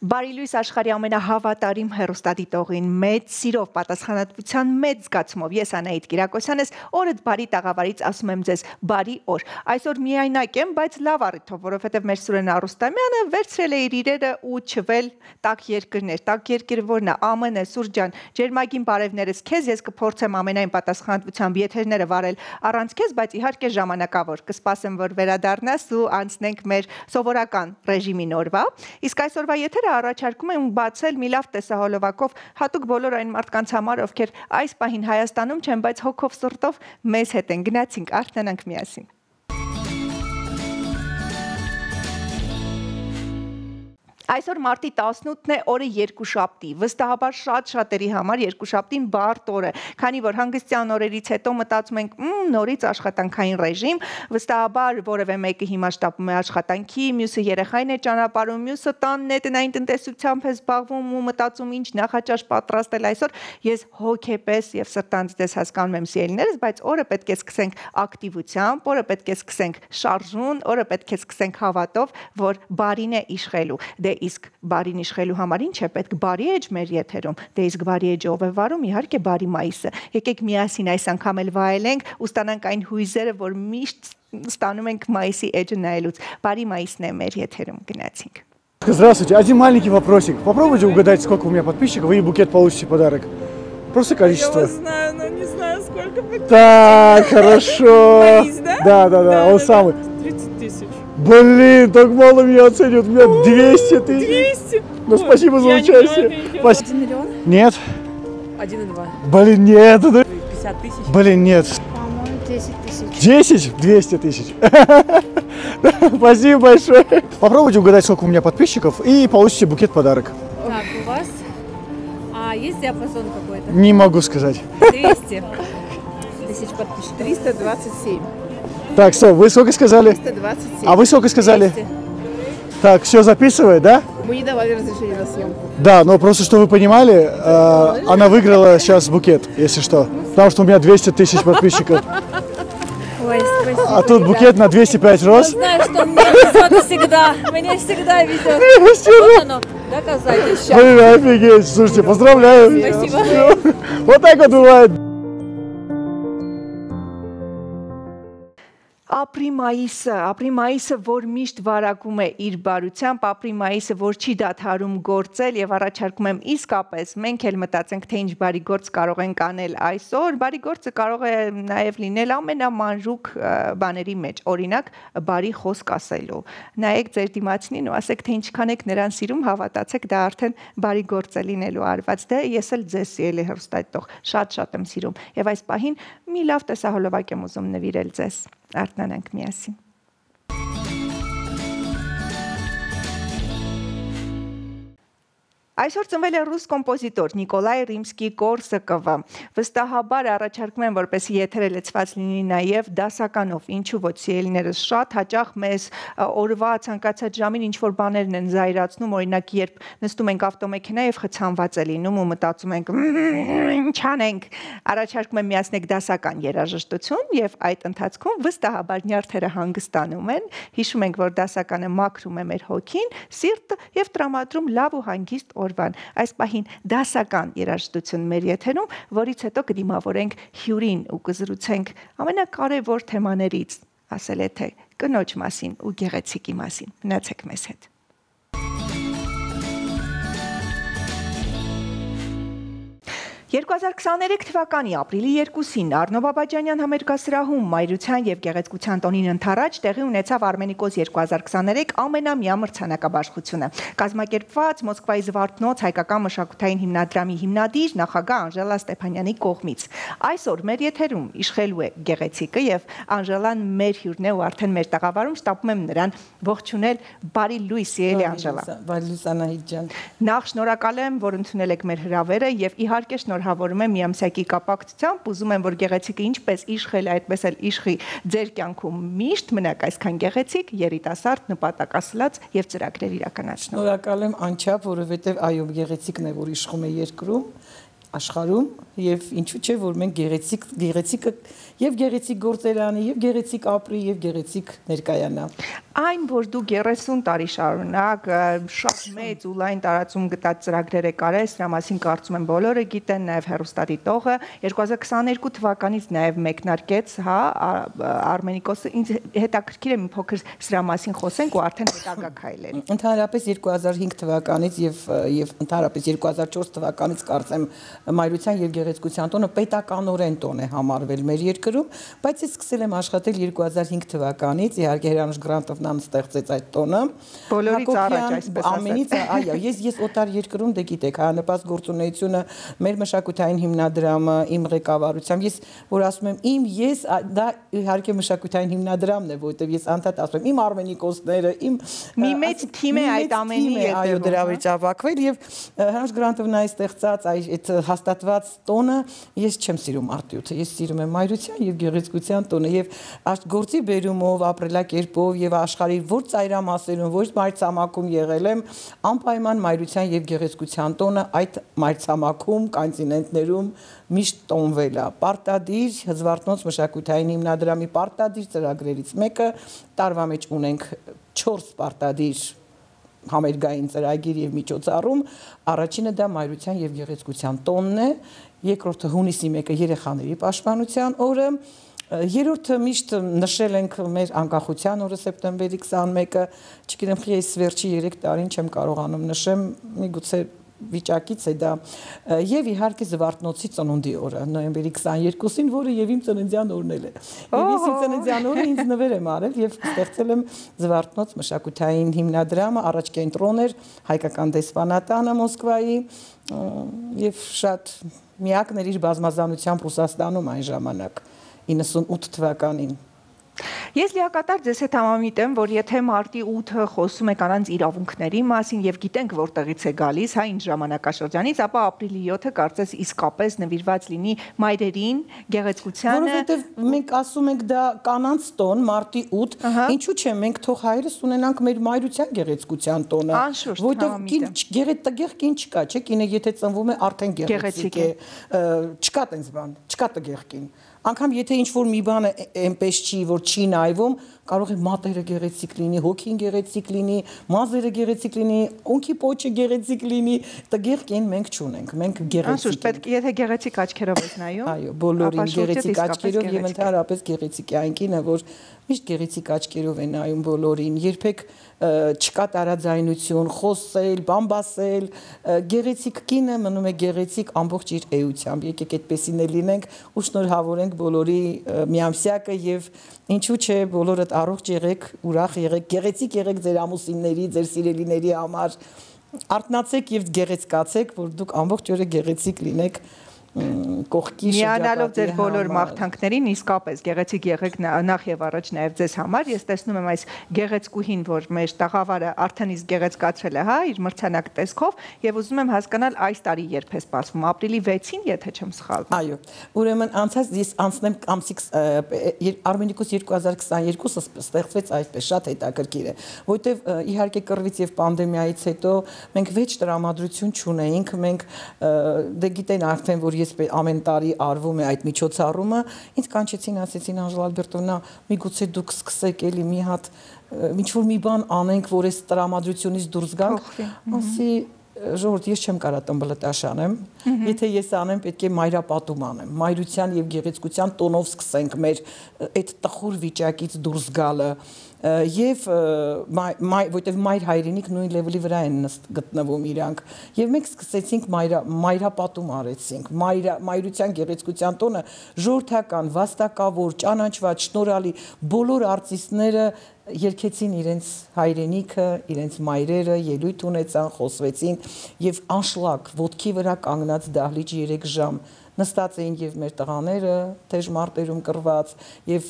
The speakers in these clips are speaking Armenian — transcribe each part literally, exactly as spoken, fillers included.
Բարի լույս աշխարհի ամենահավատարիմ հեռուստադիտողին, մեծ սիրով, պատասխանատվության մեծ զգացումով ես Անահիտ Կիրակոսյան ես, օրդ բարի տաղավարից ասում եմ ձեզ բարի օր։ Այսօր միայնակ եմ, բայց լավ առիթով, որովհետև մեր Սուրեն Արուստամյանը վերցրել է իր իրերը ու չվել տաք երկրներ, տաք երկիրը որն է, ԱՄՆ, Սուրճ ջան, ջերմագին բարևներս քեզ, ես կփորձեմ ամենայն պատասխանատվությամբ եթերները վարել առանց քեզ, բայց իհարկե ժամանակավոր, կսպասեմ, որ վերադառնաս ու անցնենք մեր սովորական ռեժիմին օրվա։ Իսկ այսօրվա եթերը առաջարկում եմ բացել մի լավ տեսահոլովակով հատուկ բոլոր այն մարդկանց համար, ովքեր այս պահին Հայաստանում չեն, բայց հոգով սրտով մեզ հետ են։ Գնացինք, արթնանանք միասին։ Այսօր մարտի տասնութն է, օրը երկուշաբթի, վստահաբար շատ շատերի համար երկուշաբթին բարդ օր է, քանի որ հանգստյան օրերից հետո մտածում ենք նորից աշխատանքային ռեժիմ, վստահաբար որևէ մեկը հիմա շտապում է աշխատանքի, մյուսը երեխային է ճանապարհում, մյուսը տանն է տնային տնտեսությամբ է զբաղվում ու մտածում ինչ նախաճաշ պատրաստել այսօր, ես հոգեպես եւ սրտանց դες հասկանում եմ սիրելիներս, բայց օրը պետք է սկսենք ակտիվությամբ, օրը պետք է սկսենք շարժուն, օրը պետք է սկսենք հավատով, որ բարին է իշխելու։ Դե իսկ բարին իշխելու համար ինչ է պետք բարի էջ մեր եթերում, դե իսկ բարի էջը ով է վարում, իհարկե բարի մայիսը։ Եկեք միասին այս անգամ էլ վայելենք ու ստանանք այն հույզերը, որ միշտ ստանում ենք մայիսի էջը նայելուց։ Բարի մայիսն է մեր եթերում, գնացինք։ Здравствуйте, один маленький вопросик. Попробуйте угадать, сколько у меня подписчиков, и букет получите подарок. Просто количество. Я вас знаю, но не знаю, сколько подписчиков. Так, хорошо. Борис, да? Да, да, да, он самый. тридцать тысяч. Блин, так мало меня оценивают, у меня двести тысяч. двести? Ну, спасибо за участие. Один миллион? Нет. Один и два. Блин, нет. пятьдесят тысяч? Блин, нет. По-моему, десять тысяч. десять? двести тысяч. Спасибо большое. Попробуйте угадать, сколько у меня подписчиков, и получите букет подарок. Так, у вас а, есть диапазон какой-то? Не могу сказать. двести тысяч подписчиков. триста двадцать семь. Так, стоп, вы сколько сказали? триста двадцать семь. А вы сколько сказали? двести. Так, все записывает, да? Мы не давали разрешения на съемку. Да, но просто, что вы понимали, э, она выиграла сейчас букет, если что. Потому что у меня двести тысяч подписчиков. Ой, спасибо. А тут букет на двести пять роз. Знаю, что мне везет всегда. Мне всегда везет. Вот оно, доказательство. Блин, офигеть, слушайте, поздравляю. Спасибо. Вот так вот бывает. Ապրի մայիսը, ապրի մայիսը, որ միշտ վարակում է իր բարությամբ, ապրի մայիսը, որ չի դադարում գործել եւ առաջարկում եմ իսկապես մենք էլ մտածենք, թե ինչ բարի գործ կարող ենք անել այսօր, բարի գործը կարող է նաեւ լինել ամենամանրուկ բաների մեջ, օրինակ բարի խոսք ասելու։ Նայեք ձեր դիմացինին ու ասեք, թե ինչքան եք նրան սիրում, հավատացեք, դա արդեն բարի գործ է լինելու արված։ Դե ես էլ ձեզ սիրելի հեռուստադիտող, շատ-շատ եմ սիրում եւ այս պահին մի լավ տեսահոլովակ եմ ուզում նվիրել ձեզ։ Արթնանանք միասին։ Այսօր ծնվել է ռուս կոմպոզիտոր Նիկոլայ Ռիմսկի-Կորսակովը։ Վստահաբար առաջարկում եմ, որպեսզի եթերը լցված լինի նաև դասականով, ինչու ոչ սիրելիներս շատ հաճախ մեզ օրվա ցանկացած ժամին ինչ-որ բաներն են զայրացնում, օրինակ երբ նստում ենք ավտոմեքենա եւ խցանված է լինում ու մտածում ենք ինչ անենք, առաջարկում եմ միացնեք դասական երաժշտություն եւ այդ ընթացքում վստահաբար նյարդերը հանգստանում են, հիշում ենք, որ դասականը մաքրում է մեր հոգին, սիրտը եւ տրամադրում լավ ու հանգիստ օրվան։ Այս պահին դասական երաժշտություն մեր եթերում, որից հետո կդիմավորենք հյուրին ու կզրուցենք ամենակարևոր թեմաներից, ասել է թե կնոջ մասին ու գեղեցիկի մասին։ Մնացեք մեզ հետ։ երկու հազար քսաներեք թվականի ապրիլի երկուսին Արնո Բաբաջանյան համերգասրահում մայրության եւ գեղեցկության տոնին ընթառաջ տեղի ունեցավ Արմենիկոս երկու հազար քսաներեք ամենամյա մրցանակաբաշխությունը։ Կազմակերպված Մոսկվայի Զվարթնոց հայկական մշակութային հիմնադրամի հիմնադիր նախագահ Անժելա Ստեփանյանի կողմից։ Այսօր մեր եթերում իշխելու է գեղեցիկը եւ Անժելան մեր հյուրն է ու արդեն մեր տաղավարում շտապում եմ նրան ողջունել։ Բարի լույս, սիրելի Անժելա։ Բարի լույս, Անահիտ ջան։ Նախ շնորհակալ եմ, որ ընդունել եք մեր հրավերը եւ իհարկե շնորհավորում եմ միամսյակի կապակցությամբ, ուզում եմ, որ գեղեցիկը ինչպես իշխել է, այդպես էլ իշխի ձեր կյանքում միշտ մնաք այսքան գեղեցիկ, երիտասարդ, նպատակասլաց եւ ծրագրեր իրականացնող։ Շնորհակալ եմ անչափ, որովհետեւ այո, գեղեցիկն է, որ իշխում է երկրում, աշխարհում եւ ինչու՞ չէ որ մենք գեղեցիկ գեղեցիկը եւ գեղեցիկ գործերանի եւ գեղեցիկ ապրի եւ գեղեցիկ ներկայանա այն որ դու երեսուն տարի շարունակ շատ մեծ ու լայն տարածում գտած ծրագրեր եք արել սրա մասին կարծում եմ բոլորը գիտեն նաեւ հեռուստադիտողը երկու հազար քսաներկու թվականից նաեւ մեկնարկեց հա Արմենիկոսը ինձ հետաքրքիր է մի փոքր սրա մասին խոսենք ու արդեն հետագա քայլեր ընդհանրապես երկու հազար հինգ թվականից եւ եւ ընդհանրապես երկու հազար չորս թվականից կարծեմ մայրության եւ գեղեցկության տոնը պետականորեն տոն է համարվել մեր երկրում, բայց ես սկսել եմ աշխատել երկու հազար հինգ թվականից, իհարկե Հրանուշ Գրանտովն ան ստեղծեց այդ տոնը։ Բոլորից առաջ այսպես ասած։ Ամենից, այո, ես ես օտար երկրում դե գիտեք, հայանպաստ գործունեությունը, մեր մշակութային հիմնադրամը, իմ ղեկավարությամբ, ես որ ասում եմ իմ ես դա իհարկե մշակութային հիմնադրամն է, որովհետեւ ես անդադ ասում եմ իմ Արմենիկոսները, իմ մի մեծ թիմ է այդ ամենի հետ, այո, դրա մեջ ավակվել եւ Հրանուշ Գրանտովն այ ստեղծած այդ հաստատված տոնը ես չեմ սիրում արտյութը, ես սիրում եմ մայրության եւ գեղեցկության տոնը եւ գործի բերումով, ապրելակերպով եւ աշխարհի որ ծայրամասերում, որ մայրցամաքում եղել եմ, անպայման մայրության եւ գեղեցկության տոնը այդ մայրցամաքում, կոնտինենտներում միշտ տոնվել է։ Պարտադիր Հզվարթնոց մշակութային հիմնադրամի պարտադիր ծրագրերից մեկը տարվա մեջ ունենք չորս պարտադիր համերգային ծրագիր եւ միջոցառում, առաջինը դա մայրության եւ գեղեցկության տոնն է, երկրորդը հունիսի մեկը երեխաների պաշտպանության օրը, երրորդը միշտ նշել ենք մեր անկախության օրը սեպտեմբերի քսաներկը, չգիտեմ, ես վերջի երեք տարին չեմ կարողանում նշեմ, միգուցե վիճակից է դա եւ իհարկե Զվարթնոցի ծնունդի օրը նոյեմբերի քսաներկուսին, որը եւ իմ ծննդյան օրն էլ է։ Եվ ես իմ ծննդյան օրը ինձ նվեր եմ արել եւ ստեղծել եմ Զվարթնոց մշակութային հիմնադրամը, առաջ կենտրոն էր հայկական դեսպանատանը Մոսկվայի եւ շատ միակներ իր բազմազանությամբ Ռուսաստանում այն ժամանակ իննսունութ թվականին։ Ես լիակատար ձեզ հետ համամիտեմ, որ եթե մարտի ութը խոսում է կանանց իրավունքների մասին եւ գիտենք որտեղից է գալիս, հա ինչ ժամանակաշրջանից, ապա ապրիլի յոթը կարծես իսկապես նվիրված լինի մայրերին, գեղեցկությանը։ Որովհետեւ մենք ասում ենք դա կանանց տոն, մարտի ութ, ինչու՞ չէ մենք թող հայրս ունենանք մեր մայրության գեղեցկության տոնը, որովհետեւ կին գեղեցիկ կին չկա, չէ՞, կինը եթե ծնվում է արդեն գեղեցիկ է, չկա տենց բան, չկա տգեղ կին։ Անկամ եթե ինչ-որ մի բանը այնպես չի, որ չի նայվում, կարող է մատերը գեղեցիկ լինի, հոգին գեղեցիկ լինի, մազերը գեղեցիկ լինի, ունքի պոչը գեղեցիկ լինի, տգեղ կին մենք չունենք, մենք գեղեցիկ ենք։ Պետք է եթե գեղեցիկ աչքերով ես նայում։ Այո, բոլորին գեղեցիկ աչքերով եւ ընդհանրապես գեղեցիկ է այն կինը, որ միշտ գեղեցիկ աչքերով է նայում բոլորին, երբեք չկա տարաձայնություն, խոսել, բամբասել, գեղեցիկ կինը մնում է գեղեցիկ ամբողջ իր էությամբ։ Եկեք այդպեսին է լինենք ու շնորհավորենք բոլորի միամսյակը եւ ինչու՞ չէ բոլորդ առողջ եղեք, ուրախ եղեք, գեղեցիկ եղեք ձեր ամուսինների, ձեր սիրելիների համար։ Արթնացեք եւ գեղեցկացեք, որ դուք ամբողջ օրը գեղեցիկ լինեք։ Կողքի Միանալով ձեր բոլոր մաղթանքներին իսկապես գեղեցիկ եղեք նախ եւ առաջ նաեւ ձեզ համար։ Ես տեսնում եմ այս գեղեցկուհին, որ մեր տաղավարը արդեն իսկ գեղեցկացրել է, հա, իր մրցանակ տեսքով եւ ուզում եմ հասկանալ այս տարի երբ է սպասվում, ապրիլի վեցին, եթե չեմ սխալվում։ Այո, ուրեմն անցած ես անցնեմ ամսի Արմենիկոս երկու հազար քսաներկուսը ստեղծվեց այդպես շատ հետաքրքիր է, որովհետեւ իհարկե կռվից եւ պանդեմիայից հետո մենք վեճ տրամադրություն չունեինք, մենք դե գիտեն արդեն որ ես ամեն տարի արվում է այդ միջոցառումը, ինձ կանչեցին, ասեցին Անժելա Ալբերտովնա, միգուցե դուք սկսեք էլի մի հատ ինչ-որ մի բան անենք, որ այս տրամադրությունից դուրս գանք, ասի ժողովուրդ, ես չեմ կարա տմբլտաշ անեմ, եթե ես անեմ, պետք է մայրապատում անեմ, մայրության եւ գեղեցկության տոնով սկսենք մեր այդ տխուր վիճակից դուրս գալը եւ որտեւ մայր հայրենիք նույն լեվելի վրա են գտնվում իրանք եւ մենք սկսեցինք մայրապատում արեցինք մայրության գեղեցկության տոնը ժողովրդական վաստակավոր ճանաչված շնորհալի բոլոր արտիստները երկեցին իրենց հայրենիքը, իրենց մայրերը, ելույթ ունեցան, խոսվեցին եւ անշլակ ոտքի վրա կանգնած դահլիճ երեք ժամ նստած էին եւ մեր տղաները թեժ մարտերում կռված եւ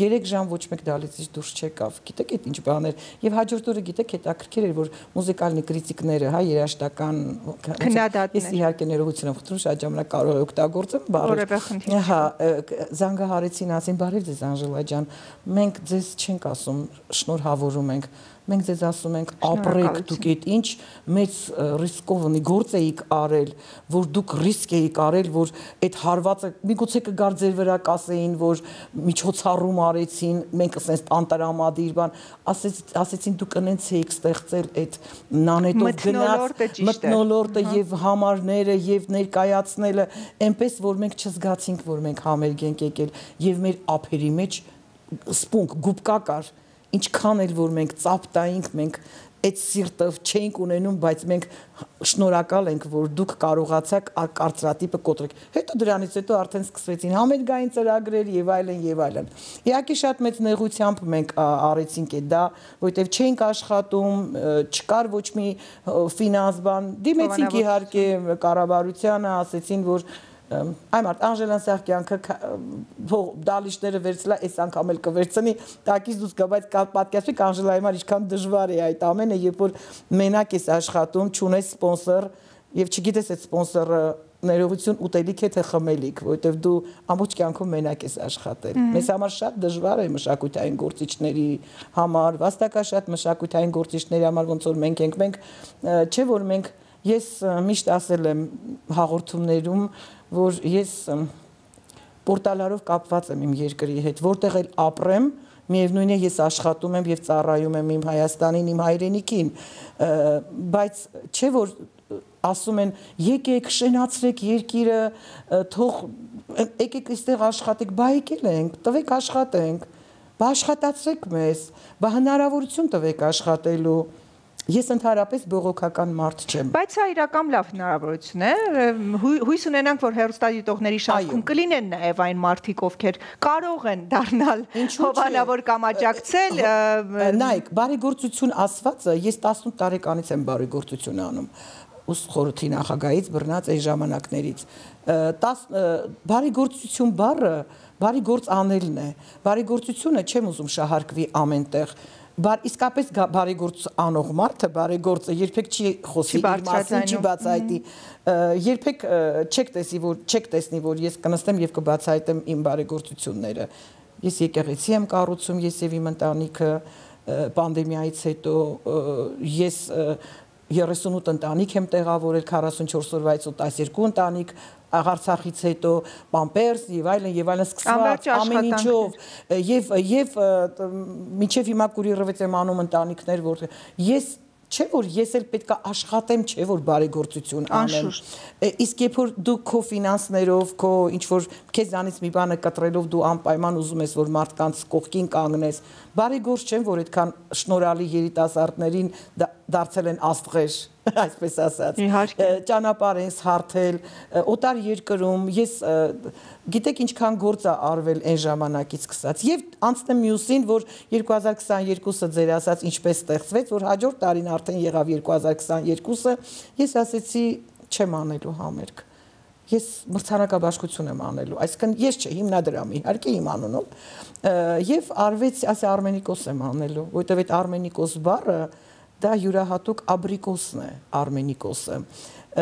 երեք ժամ ոչ մեկ դալիցից դուրս չեկավ։ Գիտեք այդ ինչ բաներ եւ հաջորդ օրը գիտեք հետաքրքիր էր որ մուզիկալնի կրիտիկները, հա, երաժշտական քննադատներ։ Ես իհարկե ներողություն եմ խնդրում, շատ ժամանակ կարող եմ օգտագործեմ բառը։ Հա, զանգահարեցին, ասին բարև ձեզ Անժելա ջան, մենք ձեզ չենք ասում, շնորհավորում ենք, մենք ձեզ ասում ենք ապրեք դուք այդ ինչ մեծ ռիսկովնի գործ էիք արել, որ դուք ռիսկ էիք արել, որ այդ հարվածը միգուցե կգար ձեր վրա կասեին, որ միջոցառում արեցին, մենք ասենք անտարամադիր բան, ասեցին դուք ընենց էիք ստեղծել այդ նանետով գնաց մթնոլորտը եւ համարները եւ ներկայացնելը, այնպես որ մենք չզգացինք, որ մենք համերգ ենք եկել եւ մեր ափերի մեջ սպունգ գուբկա կար ինչքան էլ որ մենք ծապտայինք, մենք այդ սիրտը չենք ունենում, բայց մենք շնորհակալ ենք, որ դուք կարողացաք կարծրատիպը կոտրեք։ Հետո դրանից հետո արդեն սկսվեցին համերգային ծրագրեր եւ այլն եւ այլն։ Իհարկե շատ մեծ նեղությամբ մենք արեցինք այդ դա, որովհետեւ չենք աշխատում, չկար ոչ մի ֆինանս բան։ Դիմեցինք իհարկե կառավարությանը, ասեցին, որ Այ մարդ Անժելան սաղ կյանքը դալիշները վերցլա, այս անգամ էլ կվերցնի, տակից դուս կա, բայց պատկերացրեք Անժելայի համար ինչքան դժվար է այդ ամենը, երբ որ մենակ ես աշխատում, չունես սպոնսոր եւ չգիտես այդ սպոնսորը ներողություն ուտելիք է թե խմելիք, որովհետեւ դու ամբողջ կյանքում մենակ ես աշխատել։ Մեզ համար շատ դժվար է մշակութային գործիչների համար, վաստակաշատ մշակութային գործիչների համար, ոնց որ մենք ենք, մենք չէ որ մենք ես միշտ ասել եմ հաղորդումներում, որ ես պորտալարով կապված եմ իմ երկրի հետ, որտեղ էլ ապրեմ, միևնույն է ես աշխատում եմ եւ ծառայում եմ իմ Հայաստանին, իմ հայրենիքին, բայց չէ որ ասում են եկեք շենացրեք երկիրը, թող եկեք այստեղ աշխատեք, բա եկել ենք, տվեք աշխատենք, բա աշխատացրեք մեզ, բա հնարավորություն տվեք աշխատելու Ես ընդհանրապես բողոքական մարդ չեմ։ Բայց սա իրական լավ հնարավորություն է։ Հույս ունենանք, որ հեռուստադիտողների շարքում կլինեն նաև այն մարդիկ, ովքեր կարող են դառնալ հովանավոր կամ աջակցել։ Նայեք, բարեգործություն ասվածը ես տասնութ տարեկանից եմ բարեգործություն անում։ Ուսուցիչ խորհրդի նախագահից բռնած այս ժամանակներից։ Բարեգործություն բառը բարեգործ անելն է։ Բարեգործությունը չեմ ուզում շահարկվի ամենտեղ։ Բար իսկապես բարեգործ անող մարդը բարեգործը երբեք չի խոսի իր մասին, չի բացահայտի, երբեք չեք տեսի որ չեք տեսնի որ ես կնստեմ եւ կբացահայտեմ իմ բարեգործությունները։ Ես եկեղեցի եմ կառուցում, ես եւ իմ ընտանիքը պանդեմիայից հետո ես երեսունութ ընտանիք եմ տեղավորել, քառասունչորս օրվայից տասներկու ընտանիք Արցախից հետո պամպերս եւ այլն եւ այլն սկսված ամեն ինչով եւ եւ մինչեւ հիմա կուրիռվեց եմ անում ընտանիքներ որ ես չէ որ ես էլ պետքա աշխատեմ, չէ որ բարեգործություն անեմ։ Իսկ երբ որ դու քո ֆինանսներով, քո ինչ որ քեզանից մի բանը կտրելով դու անպայման ուզում ես որ մարդկանց կողքին կանգնես, բարեգործ չեմ որ այդքան շնորհալի երիտասարդներին դարձել են աստղեր, այսպես ասած, ճանապարհ են հարթել, օտար երկրում, ես գիտեք ինչքան գործ է արվել այն ժամանակից սկսած եւ անցնեմ մյուսին, որ երկու հազար քսաներկուսը ձեր ասած ինչպես ստեղծվեց, որ հաջորդ տարին արդեն եղավ երկու հազար քսաներկուսը, ես ասեցի չեմ անելու համերգ։ Ես մրցանակաբաշխություն եմ անելու, այսինքն ես չէ, հիմնադրամի, իհարկե իմ անունով, եւ արվեց, ասա Արմենիկոս եմ անելու, որովհետեւ այդ Արմենիկոս բառը դա յուրահատուկ աբրիկոսն է, Արմենիկոսը։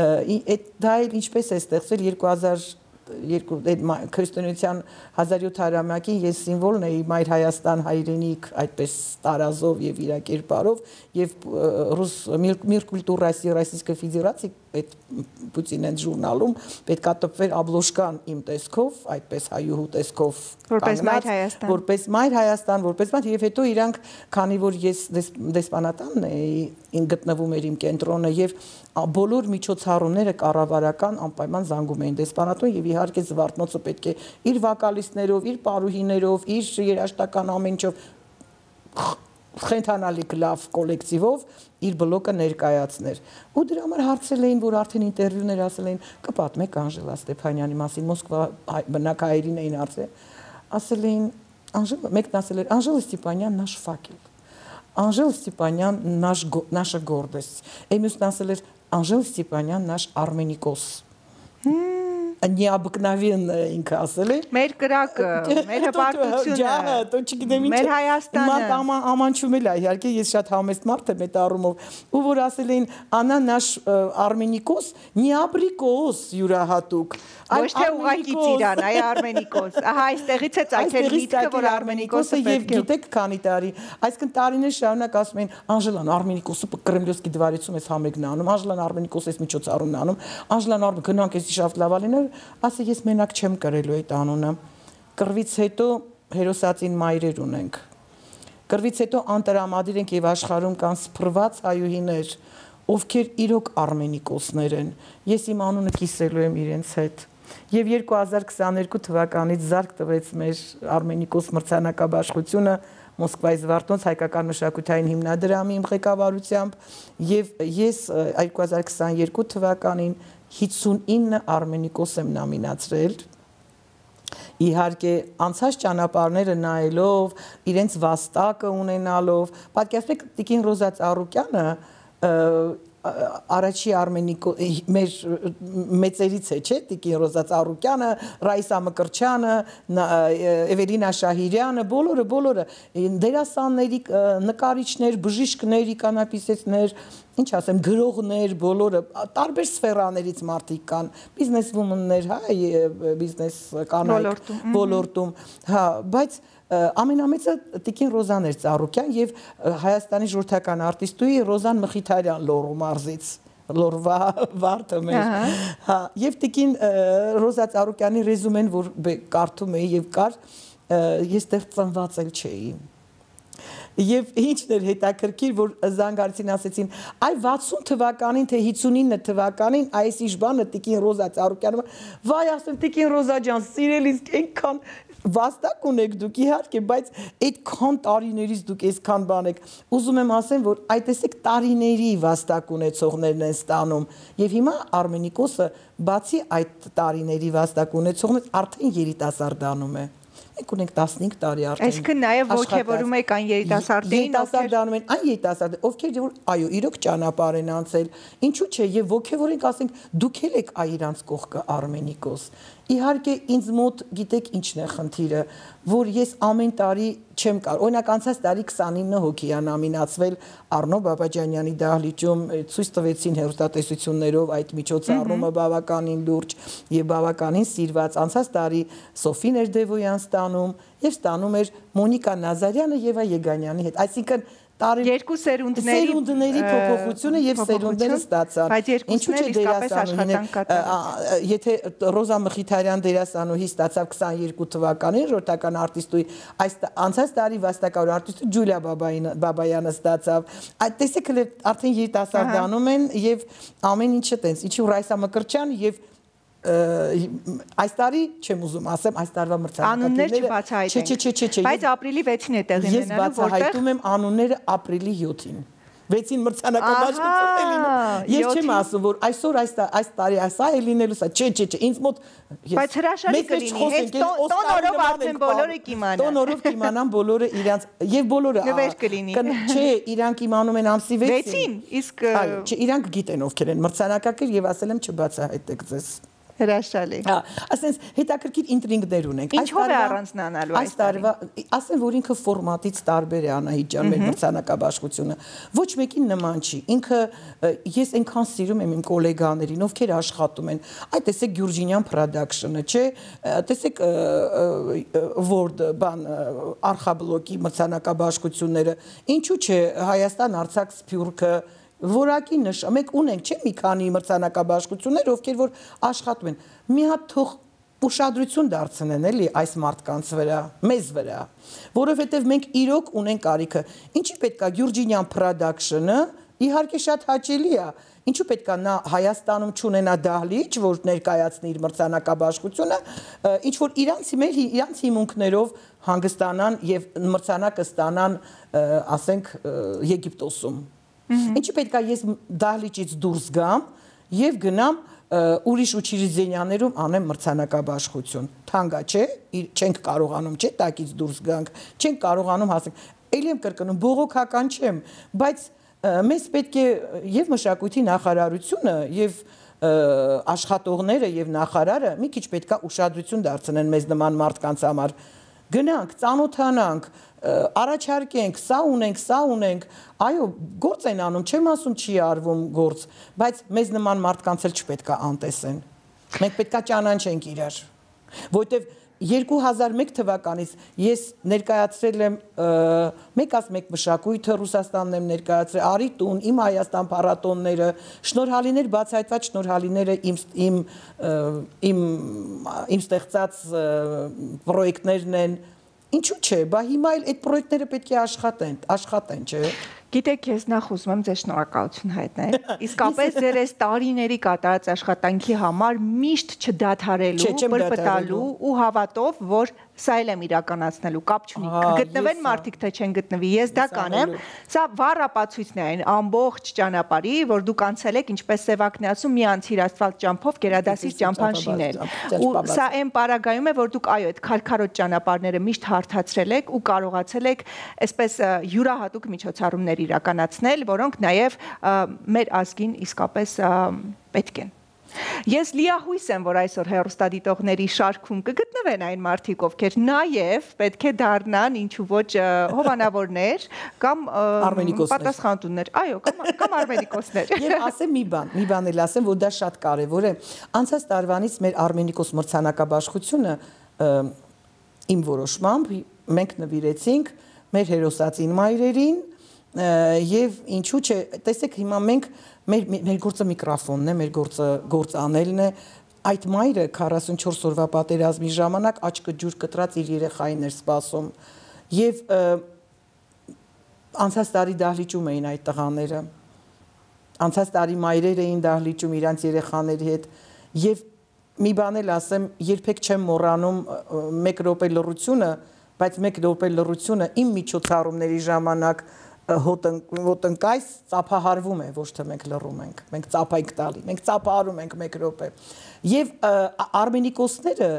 Այդ դա էլ ինչպես է ստեղծվել երկու հազար երկու քրիստոնեության հազար յոթ հարյուրամյակին ես սիմվոլն էի Մայր Հայաստան հայրենիք այդպես տարազով եւ իր կերպարով եւ ռուս Միր կուլտուրայի Ռոսիյսկой Ֆեդերացիի այդ Պուտինեն ժուրնալում պետքա տպվեր աբլոշկան իմ տեսքով, այդպես հայուհու տեսքով որպես Մայր Հայաստան, որպես Մայր Հայաստան, որպես մայր եւ հետո իրանք քանի որ ես դեսպանատանն էի գտնվում էր իմ կենտրոնը եւ բոլոր միջոցառումները կառավարական անպայման զանգում էին դեսպանատուն եւ իհարկե Զվարթնոցը պետք է իր վոկալիստներով, իր պարուհիներով, իր երաժշտական ամեն ինչով խենթանալի լավ կոլեկտիվով իր բլոկը ներկայացներ։ Ու դրա համար հարցել էին, որ արդեն ինտերվյուներ ասել էին, կպատմեք Անժելա Ստեփանյանի մասին, Մոսկվա բնակայերին էին հարցել, ասել էին, Անժելա, մեկն ասել էր, Անժելա Ստեփանյան наш факел, Անժելա Ստեփանյան наш наша гордость, Էմյուսն ասել էր, Անժելա Ստեփանյան наш Արմենիկոս։ необыкновенное ինքը ասել է։ Մեր կրակը, մեր հպարտությունը, մեր Հայաստանը։ Ամանչում էլ է, իհարկե ես շատ համեստ մարդ եմ այդ առումով, ու որ ասել էին «Անա նаш Արմենիկոս, նիաբրիկոս յուրահատուկ»։ Ոչ թե ուղղակի ծիրան, այ Արմենիկոս։ Ահա այստեղից է ծագել միտքը, որ Արմենիկոսը եւ գիտեք քանի տարի, այսինքն տարիներ շարունակ ասում էին Անժելան Արմենիկոսը Կրեմլյովսկի դվարիցում էս համերգն անում, Անժելան Արմենիկոսը էս միջոցառումն անում, Անժելան Արմեն գնանք էս շաֆտ լավալիներ, ասի ես մենակ չեմ կրելու այդ անունը։ Կռվից հետո հերոսացին մայրեր ունենք։ Կռվից հետո անտրամադիր ենք եւ աշխարհում կան սփռված հայուհիներ, ովքեր իրոք Արմենիկոսներ են։ Ես իմ անունը կիսելու եմ իրենց հետ։ Եվ երկու հազար քսաներկու թվականից զարգ տվեց մեր Արմենիկոս մրցանակաբաշխությունը Մոսկվայի Զվարթնոց հայկական մշակութային հիմնադրամի իմ ղեկավարությամբ եւ ես երկու հազար քսաներկու թվականին հիսունինը Արմենիկոս եմ նոմինացրել իհարկե անցած ճանապարհները նայելով իրենց վաստակը ունենալով պատկերացրեք Տիկին Ռոզա Ծառուկյանը Առաջի Արմենիկո մեր մեծերից է, չէ՞, Տիկին Ռոզա Ծառուկյանը, Ռայսա Մկրչյանը, Էվելինա Շահիրյանը, բոլորը, բոլորը դերասանների, նկարիչներ, բժիշկներ, իկանապիսեցներ, ինչ ասեմ, գրողներ, բոլորը տարբեր սֆերաներից մարդիկ կան, բիզնես վումաններ, հա, բիզնես կանայք ոլորտում, հա, բայց ամենամեծը Տիկին Ռոզան էր Ծառուկյան եւ Հայաստանի ժողովրդական արտիստուհի Ռոզան Մխիթարյան Լոռու մարզից Լոռվա վարդը մեր հա եւ Տիկին Ռոզա Ծառուկյանի ռեզումեն որ կարդում էի եւ կար ես դեռ ծնված էլ չէի Եվ ինչն էր հետաքրքիր, որ զանգարցին ասեցին, այ վաթսուն թվականին, թե հիսունինը թվականին, այս իշ բանը Տիկին Ռոզա Ծառուկյանը, վայ ասեմ Տիկին Ռոզա ջան, սիրելիս, այնքան վաստակ ունեք դուք իհարկե, բայց այդքան տարիներից դուք այսքան բան եք, ուզում եմ ասեմ, որ այդ տեսեք տարիների վաստակ ունեցողներն են ստանում, եւ հիմա Արմենիկոսը բացի այդ տարիների վաստակ ունեցողներից արդեն երիտասարդանում է Մենք ունենք տասնհինգ տարի արդեն։ Այսինքն նաև ոգևորում եք այն երիտասարդներին, երիտասարդանում են այն երիտասարդները, ովքեր որ այո, իրոք ճանապարհ են անցել։ Ինչու՞ չէ, եւ ոգևորենք, ասենք, դուք եք այ իրանց կողքը Արմենիկոս։ Իհարկե ինձ մոտ գիտեք ինչն է խնդիրը, որ ես ամեն տարի չեմ կարող։ Օրինակ անցած տարի քսանինը հոգի է նոմինացվել Արնո Բաբաջանյանի դահլիճում ցույց տվեցին հեռուստատեսություններով այդ միջոցառումը բավականին լուրջ եւ բավականին սիրված։ Անցած տարի Սոֆի Ներդևոյան ստանում եւ ստանում էր Մոնիկա Նազարյանը եւ Եգանյանի հետ։ Այսինքն երկու սերունդների սերունդների փոփոխությունը եւ սերունդները ստացան։ Ինչու՞ չէ իսկապես աշխատանք կատարել։ Եթե Ռոզա Մխիթարյան դերասանուհի ստացավ քսաներկու թվականին ժողովրդական արտիստուհի, այս անցած տարի վաստակավոր արտիստը Ջուլիա Բաբայանը ստացավ։ Այդ տեսեք արդեն երիտասարդանում են եւ ամեն ինչը տենց։ Ինչու Ռայսա Մկրչյան եւ Այս տարի չեմ ուզում ասեմ, այս տարվա Անուններ մրցանակակիրները չբացահայտենք։ Չէ, չէ, չէ, չէ։ Բայց ապրիլի վեցին է տեղի Ես բացահայտում եմ անունները ապրիլի յոթին։ Վեցին մրցանակաբաշխությունն է լինում։ Ես չեմ ասում, որ այսօր այս այս տարի այսա է լինելու սա։ Չէ, չէ, չէ, ինձ մոտ Բայց հրաշալի կլինի, հենց տոնորով արդեն բոլորը կիմանան։ Տոնորով կիմանան բոլորը իրանց եւ բոլորը նվեր կլինի։ Չէ, իրանք իմանում են ամսի վեցին։ Վեցին, իսկ Այո, չէ, իրանք գիտեն ովքեր են մրցանակակիր եւ ասել եմ չբացահայտեք ձեզ։ Հրաշալի։ Հա, ասենց հետաքրքիր ինտրիգներ ունենք։ Ինչով է առանձնանալու այս տարվա, ասեն որ ինքը ֆորմատից տարբեր է Անահիտ ջան մեր մրցանակաբաշխությունը։ Ոչ մեկին նման չի։ Ինքը ես այնքան սիրում եմ իմ գոլեգաներին, ովքեր աշխատում են։ Այդ տեսեք Գյուրջինյան production-ը, չէ՞։ Տեսեք Word բան արխաբլոկի մրցանակաբաշխությունները։ Ինչու՞ չէ Հայաստան, Արցախ, Սփյուռքը Որակի նշ, մենք ունենք չէ մի քանի մրցանակաբաշխություններ, ովքեր որ աշխատում են։ Մի հատ թող ուշադրություն դարձնեն էլի այս մարդկանց վրա, մեզ վրա, որովհետև մենք իրոք ունենք կարիքը։ Ինչի պետք է Գյուրջինյան production-ը, իհարկե շատ հաճելի է։ Ինչու պետք է նա Հայաստանում չունենա դահլիճ, որ ներկայացնի իր մրցանակաբաշխությունը, ինչ որ իրանց մեր իրանց հիմունքներով հանգստանան եւ մրցանակը ստանան, ասենք, Եգիպտոսում։ Ինչի պետք է ես դահլիճից դուրս գամ եւ գնամ ուրիշ ուչիրիզենյաներում անեմ մրցանակաբաշխություն։ Թանկա չէ, չենք կարողանում, չէ, տակից դուրս գանք, չենք կարողանում հասնել։ Էլի եմ կրկնում, բողոքական չեմ, բայց մեզ պետք է եւ մշակույթի նախարարությունը եւ աշխատողները եւ նախարարը մի քիչ պետքա ուշադրություն դարձնեն մեզ նման մարդկանց համար։ Գնանք, ծանոթանանք, առաջարկենք, սա ունենք, սա ունենք, այո, գործ են անում, չեմ ասում չի արվում գործ, բայց մեզ նման մարդկանց էլ չպետքա անտեսեն։ Մենք պետքա ճանաչենք իրար, որտեվ երկու հազար մեկ թվականից ես ներկայացրել եմ մեկ ազ մեկ մշակույթը Ռուսաստանն եմ ներկայացրել, Արի տուն, իմ Հայաստան փառատոնները, շնորհալիներ բացահայտված շնորհալիները իմ իմ իմ իմ ստեղծած պրոյեկտներն են, ինչու՞ չէ, բա հիմա էլ այդ պրոյեկտները պետք է աշխատեն, աշխատեն, չէ՞։ Գիտեք, ես նախ ուզում եմ ձեզ շնորհակալություն հայտնել։ Իսկապես ձեր այս տարիների կատարած աշխատանքի համար միշտ չդադարելու, բրբտալու ու հավատով, որ սա էլ եմ իրականացնելու, կապ չունի։ Գտնվեն մարդիկ, թե չեն գտնվի, ես դա կանեմ։ Սա վառ ապացույցն է այն ամբողջ ճանապարհի, որ դուք անցել եք, ինչպես Սևակն է ասում, մի անցիր ասֆալտ ճամփով գերադասից ճամփան շինել։ Ու սա այն պարագայում է, որ դուք այո, այդ քարքարոտ ճանապարհները միշտ հարթացրել եք ու կարողացել եք այսպես յուրահատուկ միջոցառումներ իրականացնել, որոնք նաև մեր ազգին իսկապես պետք են։ Ես լիահույս եմ, որ այսօր հեռուստադիտողների շարքում կգտնվեն այն մարդիկ, ովքեր նաև պետք է դառնան ինչու ոչ հովանավորներ կամ պատասխանատուներ, այո, կամ արմենիկոսներ։ Եվ ասեմ մի բան, մի բան էլ ասեմ, որ դա շատ կարևոր է։ Անցած տարվանից մեր արմենիկոս մրցանակաբաշխությունը իմ որոշմամբ մենք նվիրեցինք մեր հերոսածին մայրերին եւ ինչու՞ չէ, տեսեք հիմա մենք մեր մեր գործը միկրոֆոնն է, մեր գործը գործ անելն է, այդ մայրը քառասունչորս օրվա պատերազմի ժամանակ աչքը ջուր կտրած իր երեխային էր սպասում եւ անցած տարի դահլիճում էին այդ տղաները, անցած տարի մայրեր էին դահլիճում իրանց երեխաների հետ եւ մի բան էլ ասեմ, երբեք չեմ մոռանում մեկ րոպե լռությունը, բայց մեկ րոպե լռությունը իմ միջոցառումների ժամանակ հոտնկայս ծափահարվում է, ոչ թե մենք լռում ենք, մենք ծափայք տալի, մենք ծափահարում ենք մեկ րոպե։ Եվ արմենիկոսները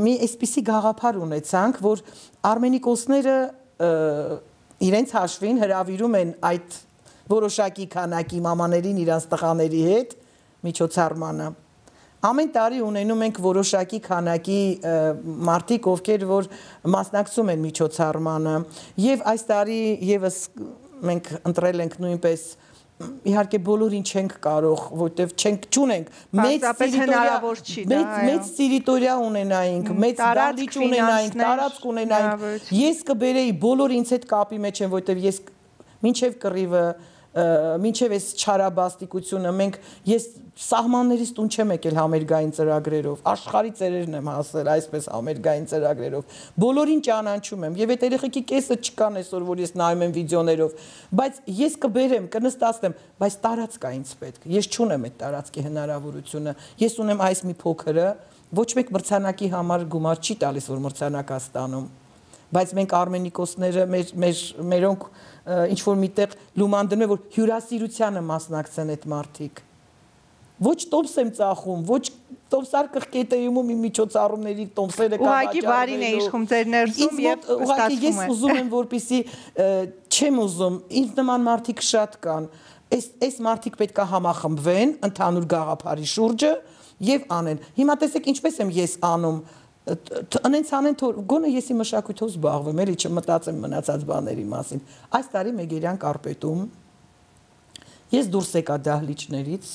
մի այսպիսի գաղափար ունեցանք, որ արմենիկոսները իրենց հաշվին հրավիրում են այդ որոշակի քանակի մամաներին իրանց տղաների հետ միջոցառմանը։ Ամեն տարի ունենում ենք որոշակի քանակի մարդիկ, ովքեր որ մասնակցում են միջոցառմանը, եւ այս տարի եւս մենք ընտրել ենք նույնպես իհարկե բոլորին չենք կարող, որտեվ չենք ճունենք մեծ մեծ տերիտորիա ունենայինք, մեծ դահլիճ ունենայինք, տարածք ունենայինք։ Ես կբերեի բոլոր ինձ հետ կապի մեջ են, որտեվ ես մինչեւ կռիվը մինչև այս չարաբաստիկությունը մենք ես սահմաններից տուն չեմ եկել համերգային ծրագրերով, աշխարհի ծերերն եմ հասել այսպես համերգային ծրագրերով, բոլորին ճանաչում եմ եւ այդ երեխեքի կեսը չկան այսօր, որ ես նայում եմ վիդեոներով, բայց ես կբերեմ, կնստացնեմ, բայց տարածք է ինձ պետք, ես չունեմ այդ տարածքի հնարավորությունը, ես ունեմ այս մի փոքրը, ոչ մեկ մրցանակի համար գումար չի տալիս, որ մրցանակ ստանում, բայց մենք արմենիկոսները մեր մեր մերոնք ինչ որ միտեղ լուման դնում է, որ հյուրասիրությանը մասնակցեն այդ մարդիկ։ Ոչ տոմս եմ ծախում, ոչ տոմսար կղկետեում ու մի միջոցառումների տոմսերը կամ ուղղակի բարին է իշխում ձեր ներսում եւ ուղղակի ես ուզում եմ, որպեսի չեմ ուզում, ինձ նման մարդիկ շատ կան։ Այս այս մարդիկ պետքա համախմբվեն ընդհանուր գաղափարի շուրջը եւ անեն։ Հիմա տեսեք ինչպես եմ ես անում Անենց անեն թող գոնե ես իմ մշակույթով զբաղվեմ, էլի չմտածեմ մնացած բաների մասին։ Այս տարի Մեգերյան կարպետում ես դուրս եկա դահլիճներից,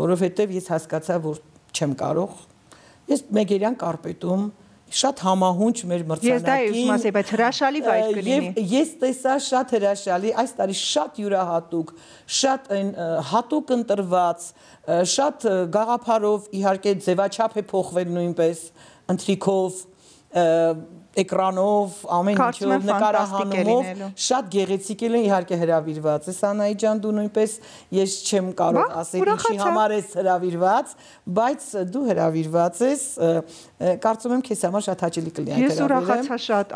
որովհետև ես հասկացա, որ չեմ կարող։ Ես Մեգերյան կարպետում շատ համահունչ մեր մրցանակին։ Ես դա եմ ասել, բայց հրաշալի վայր կլինի։ Եվ ես տեսա շատ հրաշալի, այս տարի շատ յուրահատուկ, շատ այն հատուկ ընտրված, շատ գաղափարով իհարկե ձևաչափ է փոխվել նույնպես ընթրիքով, էկրանով, ամեն ինչով, նկարահանումով, շատ գեղեցիկ են իհարկե հրավիրված ես Անայի ջան, դու նույնպես ես չեմ կարող ասել ինչի համար ես հրավիրված, բայց դու հրավիրված ես, կարծում եմ քեզ համար շատ հաճելի կլինի այդ հրավիրեմ։ Ես ուրախացա շատ,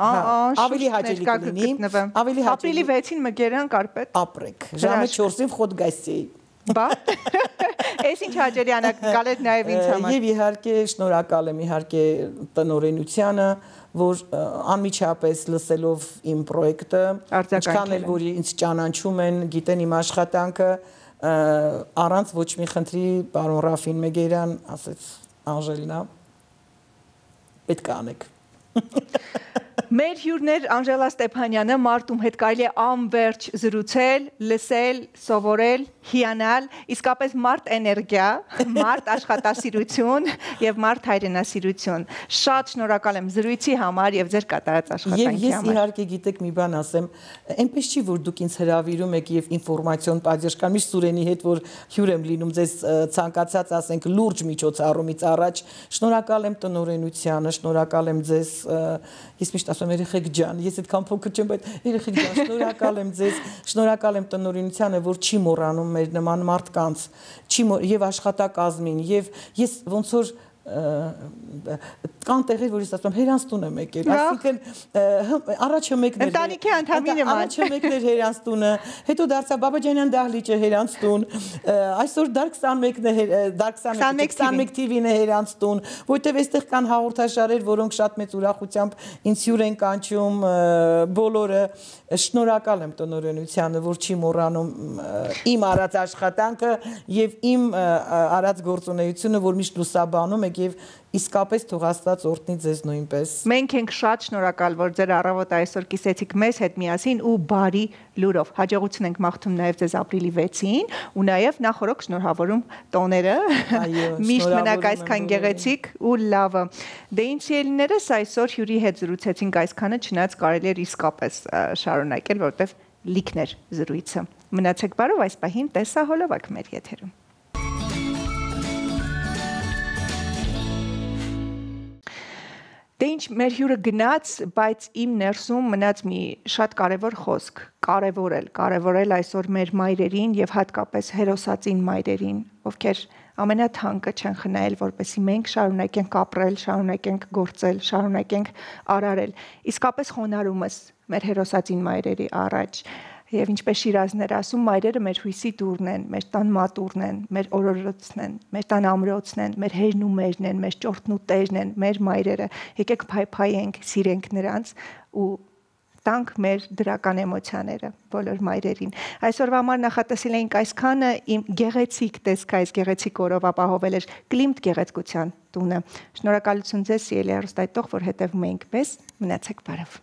ավելի հաճելի կլինի, ավելի հաճելի։ Ապրիլի վեցին Մեգերյան կարպետ։ Ապրեք, ժամը չորսին խոտ գայսի։ Բա Այս ինչ հաճելի անակնկալ է նաև ինձ համար։ Եվ իհարկե շնորհակալ եմ իհարկե տնօրենությանը, որ անմիջապես լսելով իմ պրոյեկտը, ինչքան էլ որ ինձ ճանաչում են, գիտեն իմ աշխատանքը, առանց ոչ մի խնդրի պարոն Ռաֆին Մեգերյան ասեց Անժելինա պետք է անեք Մեր հյուրներ Անժելա Ստեփանյանը Մարտում հետ կարելի է անverջ զրուցել, լսել, սովորել, հիանալ, իսկապես մարդ էներգիա, մարդ աշխատասիրություն եւ մարդ հայրենասիրություն։ Շատ շնորհակալ եմ զրույցի համար եւ ձեր կատարած աշխատանքի համար։ Եվ ես իհարկե գիտեք մի բան ասեմ, այնպես չի որ դուք ինձ հրավիրում եք եւ ինֆորմացիոն պատժկան միշտ Սուրենի հետ որ հյուր եմ լինում ձեզ ցանկացած ասենք լուրջ միջոցառումից առաջ։ Շնորհակալ եմ տնօրենությանը, շնորհակալ եմ ձեզ ես միշտ ասում եմ երեխեք ջան, ես այդքան փոքր չեմ, բայց երեխեք ջան, շնորհակալ եմ ձեզ, շնորհակալ եմ տնօրենությանը, որ չի մոռանում մեր նման մարդկանց, չի եւ աշխատակազմին, եւ ես ոնց որ կան տեղեր, որ ես ասում եմ, հերանստուն եմ եկել, այսինքն առաջը մեկն էր ընտանիքի անդամին եմ առաջը մեկն էր հերանստունը, հետո դարձա Բաբաջանյան դահլիճը հերանստուն, այսօր դար քսանմեկն է, դար քսանմեկ թիվին է հերանստուն, որտեվ այստեղ կան հաղորդաշարեր, որոնք շատ մեծ ուրախությամբ ինձ հյուր են կանչում բոլորը, շնորհակալ եմ տնօրենությանը, որ չի մոռանում իմ արած աշխատանքը եւ իմ արած գործունեությունը, որ միշտ լուսաբանում եք եւ իսկապես թող Աստված օրհնի ձեզ նույնպես։ Մենք ենք շատ շնորհակալ, որ ձեր առավոտը այսօր կիսեցիք մեզ հետ միասին ու բարի լուրով։ Հաջողություն ենք մաղթում նաև ձեզ ապրիլի վեցին ու նաև նախորոք շնորհավորում տոները։ Միշտ մնաք այսքան գեղեցիկ ու լավը։ Դե ինչ ելիներս այսօր հյուրի հետ զրուցեցինք այսքանը, չնայած կարելի էր իսկապես շարունակել, որովհետև լիքն էր զրույցը։ Մնացեք բարով, այս պահին տեսահոլովակ մեր եթերում։ Դե ինչ մեր հյուրը գնաց, բայց իմ ներսում մնաց մի շատ կարևոր խոսք, կարևորել, կարևորել այսօր մեր մայրերին եւ հատկապես հերոսածին մայրերին, ովքեր ամենաթանկը չեն խնայել, որպեսզի մենք շարունակենք ապրել, շարունակենք գործել, շարունակենք արարել։ Իսկապես խոնարհումս մեր հերոսածին մայրերի առաջ Եվ ինչպես Շիրազներ ասում, մայրերը մեր հույսի տուրն են, մեր տան մատուրն են, մեր օրորոցն են, մեր տան ամրոցն են, մեր հերն ու մերն են, մեր ճորտն ու տերն են, մեր մայրերը։ Եկեք փայփայենք, սիրենք նրանց ու տանք մեր դրական էմոցիաները բոլոր մայրերին։ Այսօրվա համար նախատեսել էինք այսքանը, իմ գեղեցիկ տեսք այս գեղեցիկ օրով ապահովել էր Կլիմտ գեղեցկության տունը։ Շնորհակալություն ձեզ, սիրելի հեռուստայտող, որ հետևում էինք մեզ, մնացեք բարով։